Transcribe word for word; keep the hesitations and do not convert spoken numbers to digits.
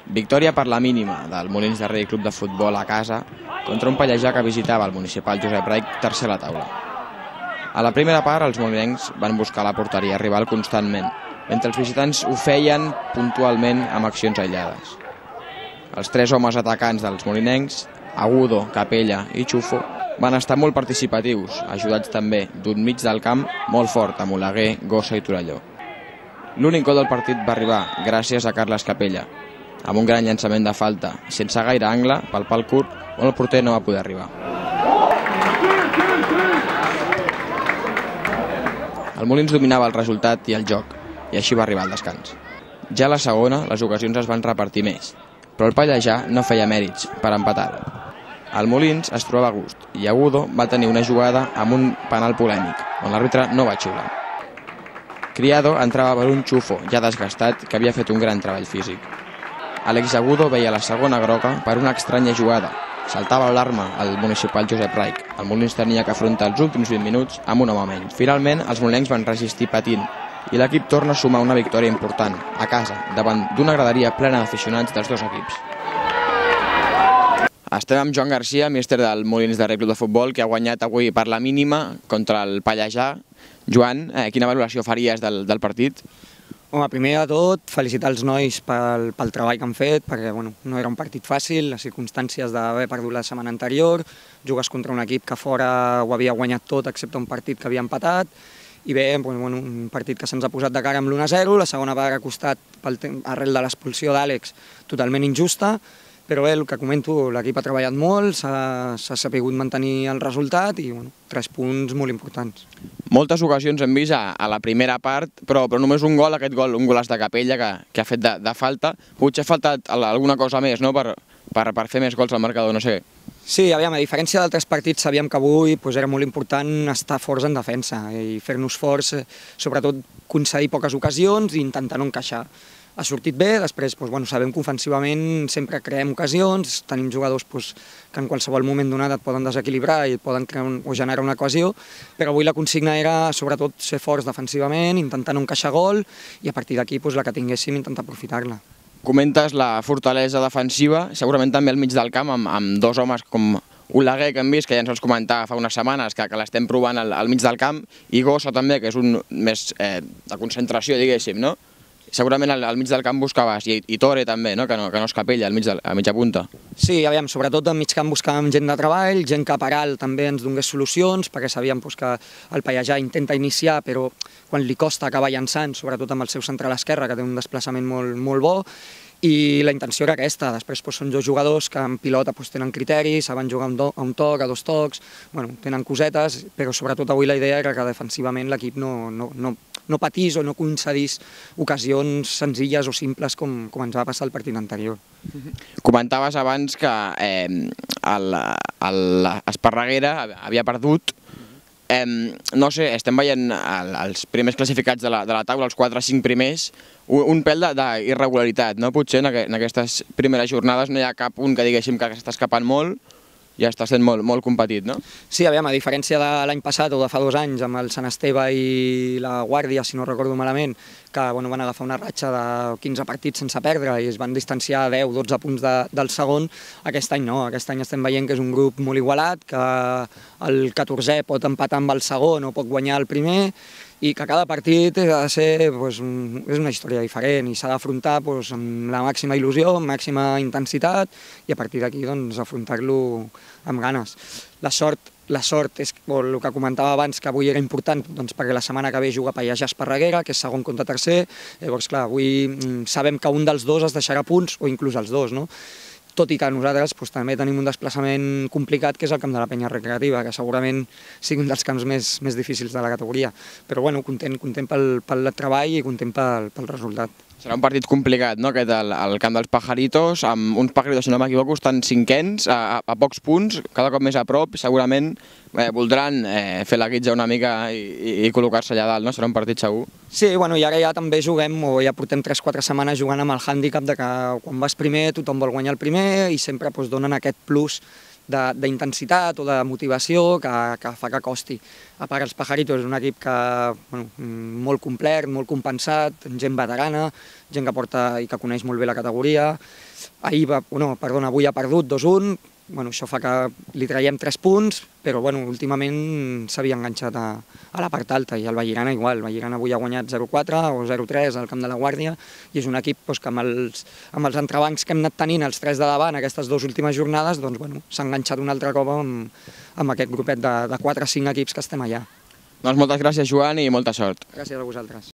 Victòria per la mínima del Molins de Rei Club de Futbol a casa contra un Pallejà que visitava el municipal Josep Reich, tercer a la taula. A la primera part, els molinencs van buscar la porteria rival constantment, mentre els visitants ho feien puntualment amb accions aïllades. Els tres homes atacants dels molinencs, Agudo, Capella i Xufo, van estar molt participatius, ajudats també d'un mig del camp molt fort amb Oleguer, Gossa i Torelló. L'únic gol del partit va arribar gràcies a Carles Capella, amb un gran llançament de falta, sense gaire angle, pel pal curt, on el porter no va poder arribar. El Molins dominava el resultat i el joc, i així va arribar al descans. Ja a la segona, les ocasions es van repartir més, però el Pallejà no feia mèrits per empatar-ho. El Molins es trobava a gust i Agudo va tenir una jugada amb un penal polèmic, on l'àrbitre no va xiular. Criado entrava per un Xufo ja desgastat que havia fet un gran treball físic. Àlex Agudo veia la segona groga per una estranya jugada. Saltava l'alarma al municipal Josep Reich. El Molins tenia que afrontar els últims vint minuts amb un home menys. Finalment, els molinencs van resistir patint i l'equip torna a sumar una victòria important, a casa, davant d'una graderia plena d'aficionats dels dos equips. Estem amb Joan Garcia, míster del Molins de Rei Club de Futbol, que ha guanyat avui per la mínima contra el Pallejà. Joan, eh, quina valoració faries del, del partit? Home, primer de tot, felicitar els nois pel, pel treball que han fet, perquè bueno, no era un partit fàcil, les circumstàncies d'haver perdut la setmana anterior, jugues contra un equip que fora ho havia guanyat tot excepte un partit que havia empatat, i bé, bueno, un partit que se'ns ha posat de cara amb l'u a zero, la segona part ha costat pel arrel de l'expulsió d'Àlex totalment injusta, però bé, el que comento, l'equip ha treballat molt, s'ha sabut mantenir el resultat i bueno, tres punts molt importants. Moltes ocasions hem vist a, a la primera part, però, però només un gol, aquest gol, un golaç de Capella que, que ha fet de, de falta. Potser ha faltat alguna cosa més, no?, per, per, per fer més gols al marcador, no sé. Sí, aviam, a diferència d'altres partits, sabíem que avui pues, era molt important estar forts en defensa i fer-nos forts, sobretot concedir poques ocasions i intentar no encaixar. Ha sortit bé, després doncs, bueno, sabem que ofensivament sempre creem ocasions, tenim jugadors doncs, que en qualsevol moment donat et poden desequilibrar i et poden crear un, o generar una ocasió, però avui la consigna era sobretot ser forts defensivament, intentar no encaixar gol i a partir d'aquí doncs, la que tinguéssim intentar aprofitar-la. Comentes la fortalesa defensiva, segurament també al mig del camp amb, amb dos homes com Oleguer, que hem vist, que ja ens els comentava fa unes setmanes, que, que l'estem provant al, al mig del camp, i Gossa també, que és un més eh, de concentració, diguéssim, no? Segurament al, al mig del camp buscaves, i, i Tore també, no? Que, no, que no es Capella, al mig de, a mitja punta. Sí, aviam, sobretot al mig camp buscàvem gent de treball, gent que per alt també ens donés solucions, perquè sabíem doncs, que el Pallejà intenta iniciar, però quan li costa acabar llançant, sobretot amb el seu central esquerre, que té un desplaçament molt, molt bo, i la intenció era aquesta. Després doncs, són dos jugadors que en pilota doncs, tenen criteris, saben jugar a un toc, a dos tocs, bueno, tenen cosetes, però sobretot avui la idea era que defensivament l'equip no, no, no, no patís o no concedís ocasions senzilles o simples com, com ens va passar el partit anterior. Comentaves abans que eh, l'Esparreguera havia perdut. Eh, no sé, estem veient el, els primers classificats de la, de la taula, els quatre o cinc primers, un, un pèl d'irregularitat, no? Potser en, en aquestes primeres jornades no hi ha cap un que diguéssim que s'està escapant molt, ja està sent molt, molt competit, no? Sí, aviam, a diferència de l'any passat o de fa dos anys amb el Sant Esteve i la Guàrdia, si no recordo malament, que bueno, van agafar una ratxa de quinze partits sense perdre i es van distanciar deu o dotze punts de, del segon, aquest any no, aquest any estem veient que és un grup molt igualat, que el catorzè pot empatar amb el segon o pot guanyar el primer, i que cada partit ha de ser, doncs, un, és una història diferent i s'ha d'afrontar doncs, amb la màxima il·lusió, amb màxima intensitat i a partir d'aquí doncs, afrontar-lo amb ganes. La sort, la sort és el que comentava abans, que avui era important doncs, perquè la setmana que ve juga Pallejà Esparreguera, que és segon contra tercer, llavors clar, avui sabem que un dels dos es deixarà punts o inclús els dos, no? Tot i que nosaltres doncs, també tenim un desplaçament complicat, que és el camp de la Penya Recreativa, que segurament sigui un dels camps més, més difícils de la categoria. Però bueno, content, content pel, pel treball i content pel, pel resultat. Serà un partit complicat, no?, aquest, el, el camp dels Pajaritos, amb uns Pajaritos, si no m'equivoco, estan cinquens, a, a pocs punts, cada cop més a prop, segurament eh, voldran eh, fer la guitza una mica i, i, i col·locar-se allà dalt, no? Serà un partit segur. Sí, bueno, i ara ja també juguem, o ja portem tres o quatre setmanes jugant amb el hàndicap de que quan vas primer tothom vol guanyar el primer i sempre doncs, donen aquest plus d'intensitat o de motivació que, que fa que costi. A part, els Pajaritos és un equip que, bueno, molt complet, molt compensat, gent veterana, gent que porta i que coneix molt bé la categoria, ahir va, no, perdona, avui ha perdut dos a un, bueno, això fa que li traiem tres punts, però bueno, últimament s'havia enganxat a, a la part alta i el Vallirana igual. El Vallirana avui ha guanyat zero a quatre o zero a tres al camp de la Guàrdia i és un equip doncs, que amb els, amb els entrebancs que hem anat tenint els tres de davant aquestes dues últimes jornades doncs, bueno, s'ha enganxat un altre cop amb, amb aquest grupet de, de quatre o cinc equips que estem allà. Doncs moltes gràcies, Joan, i molta sort. Gràcies a vosaltres.